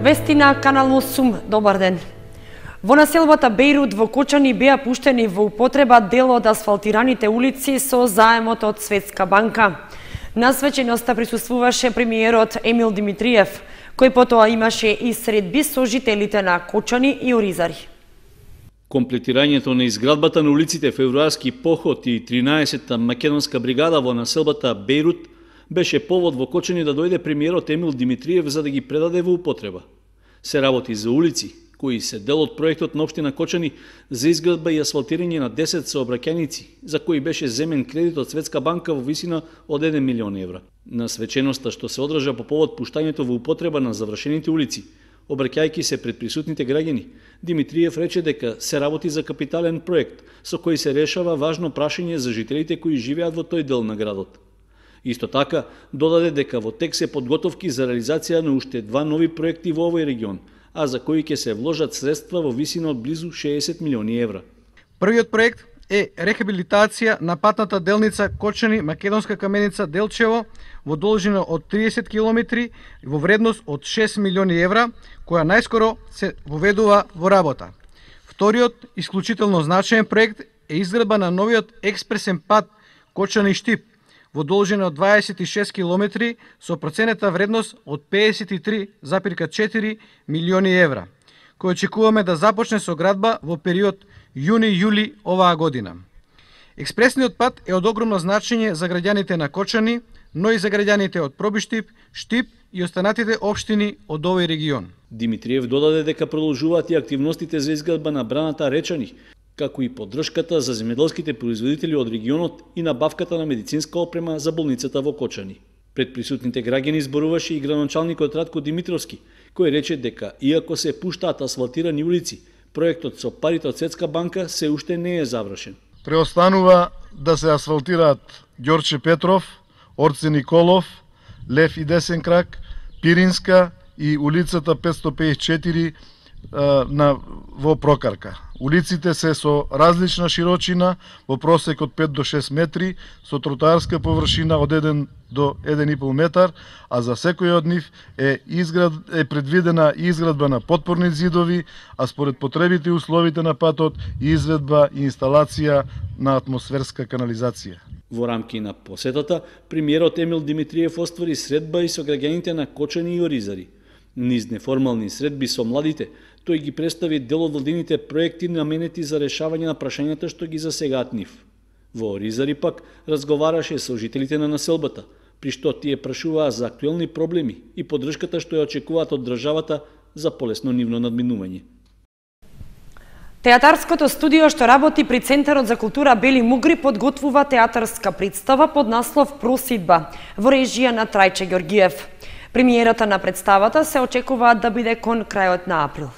Вести на Канал 8, добар ден. Во населбата Бејрут во Кочани беа пуштени во употреба дел од асфалтираните улици со заемот од Светска банка. На свеченоста присуствуваше премиерот Емил Димитриев, кој потоа имаше и средби со жителите на Кочани и Оризари. Комплетирањето на изградбата на улиците Февруарски поход и 13-та македонска бригада во населбата Бејрут беше повод во Кочани да дојде премиерот Емил Димитриев за да ги предаде во употреба. Се работи за улици кои се дел од проектот на општина Кочани за изградба и асфалтирање на 10 сообраќајници, за кои беше земен кредит од Светска банка во висина од 1 милион евра. На свеченоста што се одржа по повод пуштањето во употреба на завршените улици, обраќајќи се пред присутните граѓани, Димитриев рече дека се работи за капитален проект со кој се решава важно прашање за жителите кои живеат во тој дел на градот. Исто така, додаде дека во тек се подготовки за реализација на уште 2 нови проекти во овој регион, а за кои ќе се вложат средства во висина од близу 60 милиони евра. Првиот проект е рехабилитација на патната делница Кочани-Македонска каменица Делчево во должина од 30 километри во вредност од 6 милиони евра, која најскоро се воведува во работа. Вториот, исклучително значаен проект е изградба на новиот експресен пат Кочани-Штип во должина од 26 километри со проценета вредност од 53,4 милиони евра, кој очекуваме да започне со градба во период јуни-јули оваа година. Експресниот пат е од огромно значење за граѓаните на Кочани, но и за граѓаните од Пробиштип, Штип и останатите општини од овој регион. Димитриев додаде дека продолжуваат и активностите за изградба на браната Речани, како и поддршката за земјоделските производители од регионот и набавката на медицинска опрема за болницата во Кочани. Пред присутните граѓани зборуваше и градоначалникот Радко Димитровски, кој рече дека иако се пуштаат асфалтирани улици, проектот со парите од Светска банка се уште не е завршен. Преостанува да се асфалтираат Ѓорче Петров, Орце Николов, Лев и Десен крак, Пиринска и улицата 554 во Прокарка. Улиците се со различна широчина, во просек од 5 до 6 метри, со тротоарска површина од 1 до 1,5 метар, а за секој од нив е предвидена изградба на потпорни зидови, а според потребите и условите на патот и изведба и инсталација на атмосферска канализација. Во рамки на посетата, премиерот Емил Димитриев оствари средба и со граѓаните на Кочани и Оризари. Низ неформални средби со младите, тој ги представи дел од владините проекти наменети за решавање на прашањата што ги засегаат нив. Во Оризари пак разговараше со жителите на населбата, при што тие прашуваа за актуелни проблеми и поддршката што ја очекуваат од државата за полесно нивно надминување. Театарското студио што работи при Центарот за култура Бели Мугри подготвува театарска представа под наслов Просидба во режија на Трајче Ѓоргиев. Премиерата на представата се очекува да биде кон крајот на април.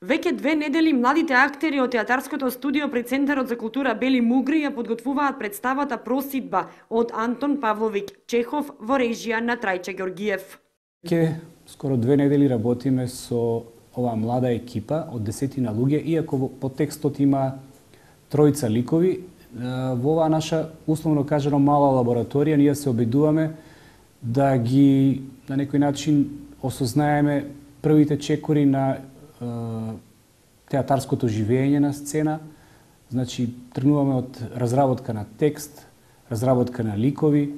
Веќе 2 недели младите актери од театарското студио при Центарот за култура Бели Мугри ја подготвуваат представата Просидба од Антон Павловиќ Чехов во режија на Трајче Ѓоргиев. Веќе скоро 2 недели работиме со оваа млада екипа од 10 луѓе, иако по текстот има 3 ликови. Во оваа наша, условно кажано, мала лабораторија, ние се обидуваме да ги, на некој начин, осознаеме првите чекори на театарското живење на сцена. Значи, тргнуваме од разработка на текст, разработка на ликови.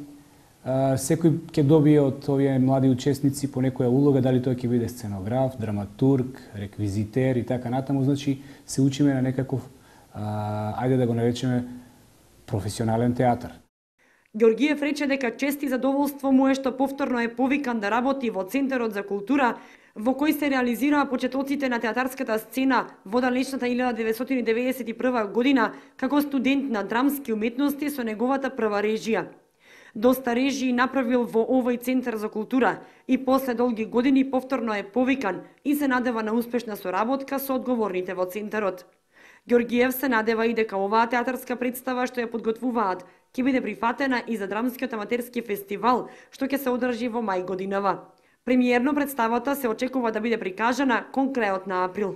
Секој ќе добие од овие млади учесници по некоја улога, дали тој ќе биде сценограф, драматург, реквизитер и така натаму. Значи, се учиме на некаков, ајде да го наречеме, професионален театар. Ѓоргиев рече дека чест и задоволство му е што повторно е повикан да работи во Центарот за култура, во кој се реализираа почетоците на театарската сцена во далечната 1991 година како студент на драмски уметности со неговата прва режија. Доста режии направил во овој Центар за култура и после долги години повторно е повикан и се надева на успешна соработка со одговорните во Центарот. Ѓоргиев се надева и дека оваа театарска представа што ја подготвуваат ќе биде прифатена и за драмскиот аматерски фестивал што ќе се одржи во мај годинава. Премиерно представата се очекува да биде прикажана кон крајот на април.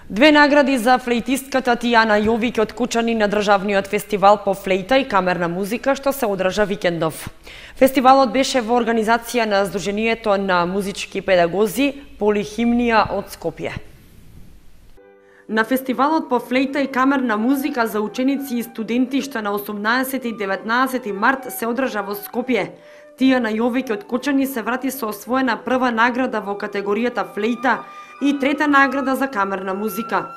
Две награди за флейтистката Тијана Јовик од Кучани на државниот фестивал по флейта и камерна музика што се одржа викендов. Фестивалот беше во организација на Сдруженијето на музички педагози Полихимнија од Скопје. На фестивалот по флейта и камерна музика за ученици и студенти што на 18 и 19 март се одржа во Скопје, Тијана Јовик од Кучани се врати со освоена прва награда во категоријата флейта и трета награда за камерна музика.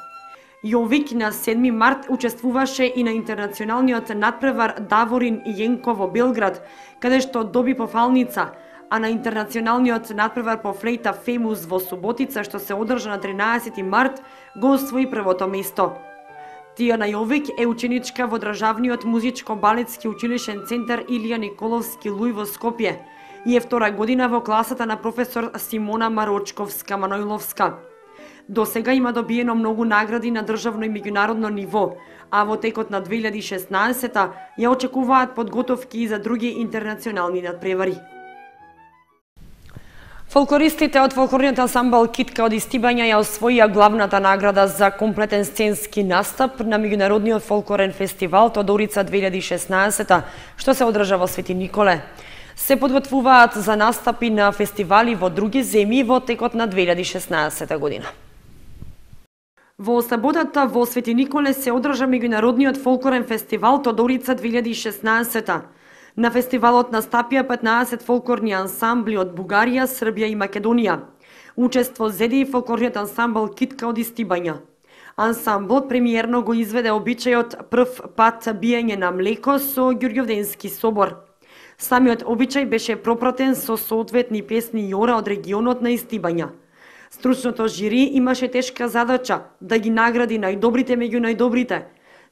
Јовик на 7 март учествуваше и на интернационалниот надпревар Даворин и Јенко во Белград, каде што доби пофалница, а на интернационалниот надпревар по флейта Фемус во Суботица, што се одржа на 13 март, го освои првото место. Тијана Јовик е ученичка во Државниот музичко-балетски училишен центар Илија Николовски Луј во Скопје и е втора година во класата на професор Симона Марочковска-Манојловска. До сега има добиено многу награди на државно и меѓународно ниво, а во текот на 2016 ја очекуваат подготовки и за други интернационални надпревари. Фолклористите од фолклорниот ансамбл Китка од Истибања ја освоија главната награда за комплетен сценски настап на меѓународниот фолклорен фестивал Тодорица 2016, што се одржа во Свети Николе. Се подготвуваат за настапи на фестивали во други земји во текот на 2016 година. Во саботата во Свети Николе се одржа меѓународниот фолклорен фестивал Тодорица 2016. На фестивалот настапија 15 фолклорни ансамбли од Бугарија, Србија и Македонија. Учество зеде и фолклорниот ансамбл Китка од Истибања. Ансамблот премиерно го изведе обичајот прв пат биење на млеко со Ѓурѓовденски собор. Самиот обичај беше пропратен со соодветни песни и ора од регионот на Истибања. Стручното жири имаше тешка задача да ги награди најдобрите меѓу најдобрите.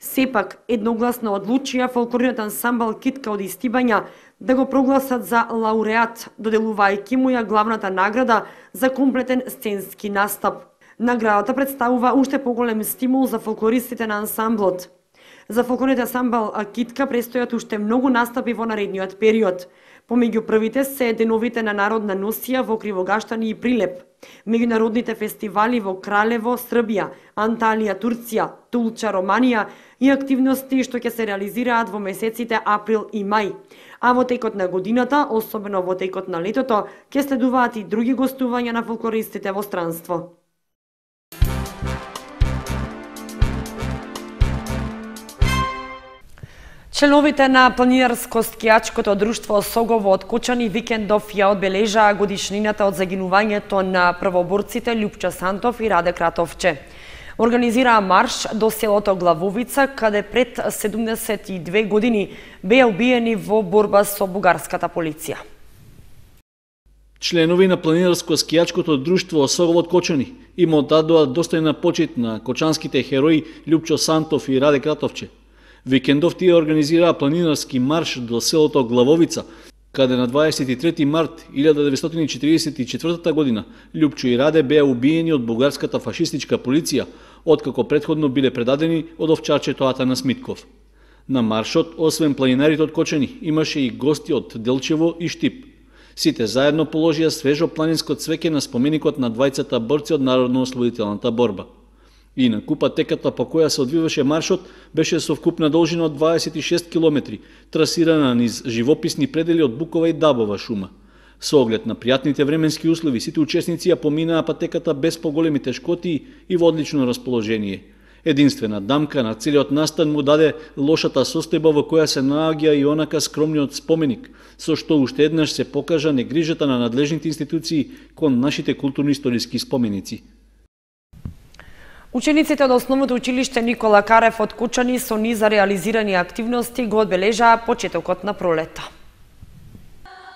Сепак, едногласно одлучија фолклорниот ансамбл Китка од Истибања да го прогласат за лауреат, доделувајќи му ја главната награда за комплетен сценски настап. Наградата представува уште поголем стимул за фолклористите на ансамблот. За фолклорниот ансамбл Китка престојат уште многу настапи во наредниот период. Помеѓу првите се деновите на народна носија во Кривогаштани и Прилеп, меѓународните фестивали во Кралево, Србија, Анталија, Турција, Тулча, Романија и активности што ќе се реализираат во месеците април и мај. А во текот на годината, особено во текот на летото, ќе следуваат и други гостувања на фолклористите во странство. Членовите на планинарско-скијачкото друштво Согово од Кучани викендов ја одбележаа годишнината од загинувањето на првоборците Љупчо Сантов и Раде Кратовче. Организираа марш до селото Главовица, каде пред 72 години беа убиени во борба со бугарската полиција. Членови на планинарско-скијачкото друштво Согово од Кочани им оддадоа достојна почит на кочанските херои Љупчо Сантов и Раде Кратовче. Викендов тие организираа планинарски марш до селото Главовица, каде на 23 март 1944 година Љупчо и Раде беа убиени од бугарската фашистичка полиција, откако претходно биле предадени од овчарчето Атанас Митков. На маршот, освен планинарите од Кочани, имаше и гости од Делчево и Штип. Сите заедно положија свежо планинско цвеќе на споменикот на двајцата борци од Народно-ослободителната борба. Инаку патеката по која се одвиваше маршот беше со вкупна должина од 26 километри, трасирана низ живописни предели од букова и дабова шума. Со оглед на пријатните временски услови, сите учесници ја поминаа патеката без поголеми тешкоти и во одлично расположение. Единствена дамка на целиот настан му даде лошата состојба во која се наоѓа и онака скромниот споменик, со што уште еднаш се покажа негрижата на надлежните институции кон нашите културно-историски споменици. Учениците од Основното училиште Никола Карев од Кучани со низа реализирани активности го одбележаа почетокот на пролета.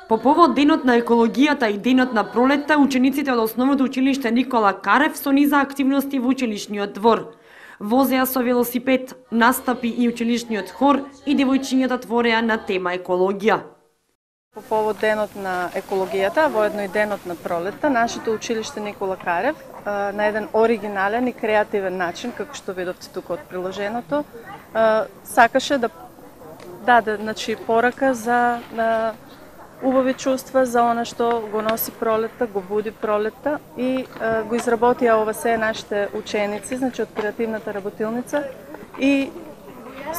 По повод денот на екологијата и денот на пролета, учениците од Основното училиште Никола Карев со низа активности во училишниот двор. Возеа со велосипед, настапи и училишниот хор и девојчињата твореа на тема екологија. По повод денот на екологијата, воедно и денот на пролетта, нашето училиште Никола Карев на еден оригинален и креативен начин, како што видовте тука од приложеното, сакаше да даде порака за убави чувства за она што го носи пролетта, го буди пролетта и го изработија ова се нашите ученици, значи од креативната работилница и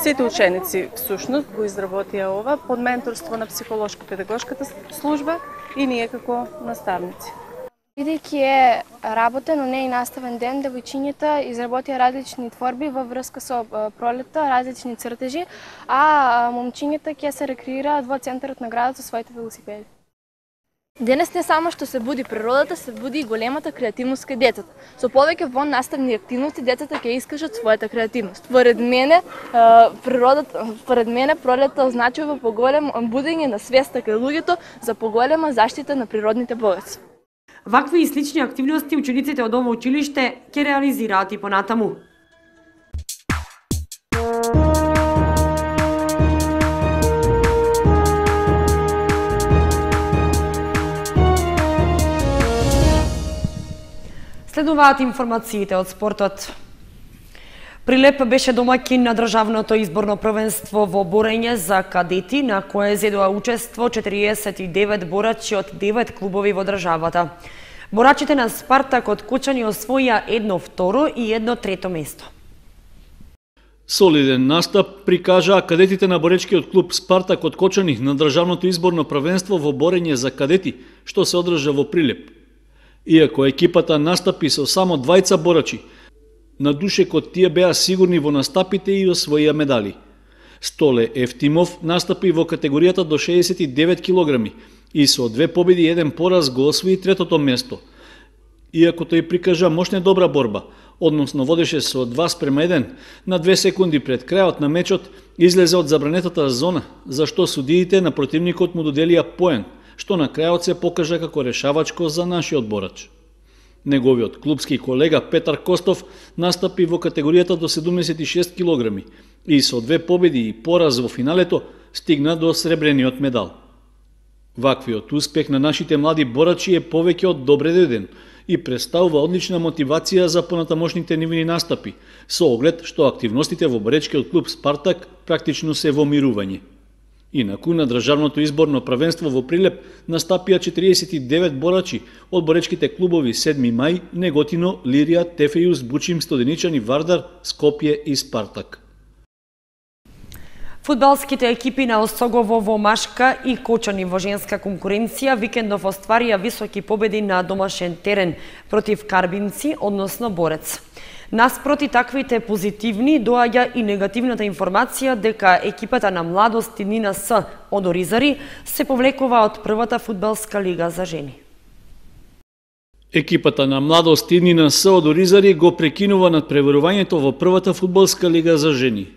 сите ученици всушност го изработија ова под менторство на психолошко-педагошката служба и ние како наставници. Бидејќи е работен, но не и наставен ден, девојчињата изработија различни творби во врска со пролетта, различни цртежи, а момчињата ќе се рекреираат во центарот на градот со своите велосипеди. Денес не само што се буди природата, се буди и големата креативност кај децата. Со повеќе наставни активности децата ќе искажат својата креативност. Според мене пролетта означува поголемо будење на свеста кај луѓето за поголема заштита на природните богатства. Вакви и слични активности учениците од ова училиште ќе реализираат и понатаму. Следуваат информациите од спортот. Прилеп беше домаќин на државното изборно првенство во борење за кадети, на кое зедоа учество 49 борачи од 9 клубови во државата. Борачите на Спартак од Кочани освоија 1-2 и 1-3 место. Солиден настап прикажаа кадетите на боречкиот клуб Спартак од Кочани на државното изборно првенство во борење за кадети, што се одржа во Прилеп. Иако екипата настапи со само 2 борачи, на душекот тие беа сигурни во настапите и освоија медали. Столе Ефтимов настапи во категоријата до 69 килограми и со 2 победи и 1 пораз го освои 3-то место. Иако тој прикажа мощна добра борба, односно водеше со 2:1, на 2 секунди пред крајот на мечот излезе од забранетата зона, за што судиите на противникот му доделија поен, што на крајот се покажа како решавачко за нашиот борач. Неговиот клубски колега Петар Костов настапи во категоријата до 76 килограми и со 2 победи и пораз во финалето стигна до сребрениот медал. Ваквиот успех на нашите млади борачи е повеќе од добре дојден и представува одлична мотивација за понатамошните нивни настапи, со оглед што активностите во боречкиот клуб Спартак практично се во мирување. Инаку на државното изборно првенство во Прилеп настапија 49 борачи од боречките клубови 7 мај, Неготино, Лирија, Тефејус, Бучим, Стоденичани, Вардар, Скопје и Спартак. Фудбалските екипи на Осогово во машка и Кочани во женска конкуренција викендов остварија високи победи на домашен терен против Карбинци, односно Борец. Наспроти таквите позитивни доаѓа и негативната информација дека екипата на Младост и Нина С од Оризари се повлекува од првата фудбалска лига за жени. Екипата на Младост и Нина С од Оризари го прекинува надпреварувањето во првата фудбалска лига за жени.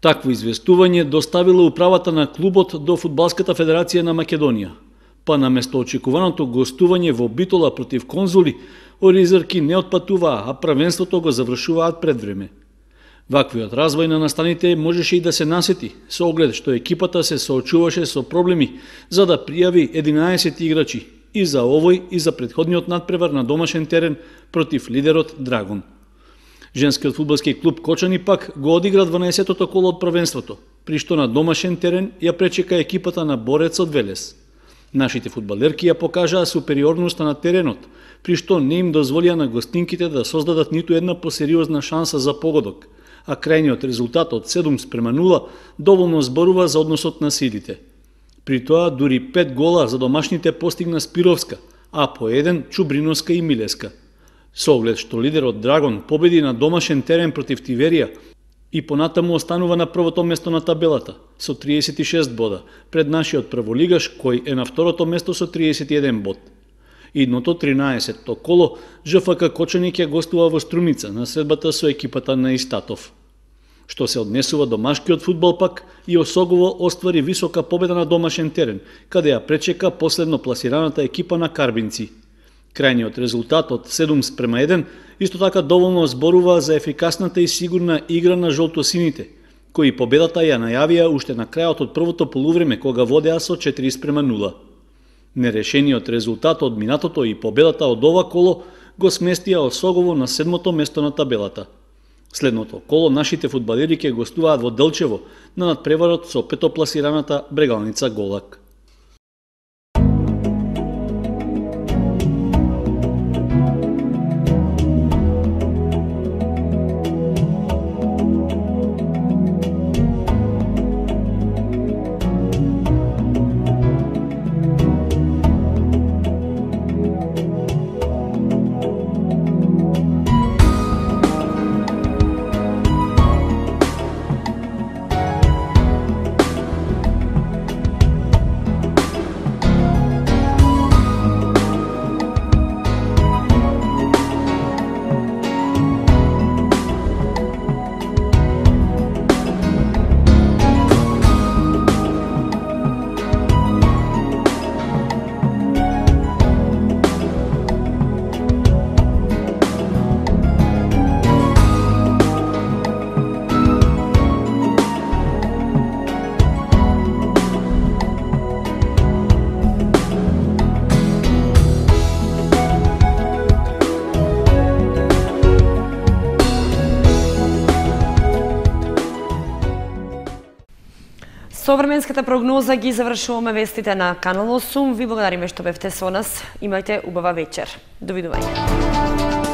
Такво известување доставила управата на клубот до Фудбалската федерација на Македонија. Па наместо очекуваното гостување во Битола против Конзули, оризарки не отпатуваа, а првенството го завршуваат пред време. Ваквиот развој на настаните можеше и да се насети, со оглед што екипата се соочуваше со проблеми за да пријави 11 играчи и за овој и за претходниот надпревар на домашен терен против лидерот Драгон. Женскиот фудбалски клуб Кочани пак го одигра 12-тото коло од првенството, при што на домашен терен ја пречека екипата на Борец од Велес. Нашите фудбалерки ја покажаа супериорноста на теренот, при што не им дозволија на гостинките да создадат ниту една посериозна шанса за погодок, а крајниот резултат од 7:0 доволно зборува за односот на силите. При тоа дури 5 гола за домашните постигна Спировска, а по 1 Чубриновска и Милеска. Со оглед што лидерот Драгон победи на домашен терен против Тиверија и понатаму останува на првото место на табелата со 36 бода, пред нашиот прволигаш кој е на второто место со 31 бод. Идното 13-то коло ЖФК Кочани ќе гостува во Струмица на средбата со екипата на Истатов. Што се однесува до машкиот фудбал пак, и Осогово оствари висока победа на домашен терен, каде ја пречека последно пласираната екипа на Карбинци. Крајниот резултат од 7:1 исто така доволно зборува за ефикасната и сигурна игра на жолтосините, кои победата ја најавија уште на крајот од првото полувреме кога водеа со 4:0. Нерешениот резултат од минатото и победата од ова коло го сместија Осогово на 7-то место на табелата. Следното коло нашите фудбалери ќе гостуваат во Делчево на надпреварот со петопласираната Брегалница Голак. Со временската прогноза ги завршуваме вестите на Канал 8. Ви благодариме што бевте со нас. Имајте убава вечер. Довидување.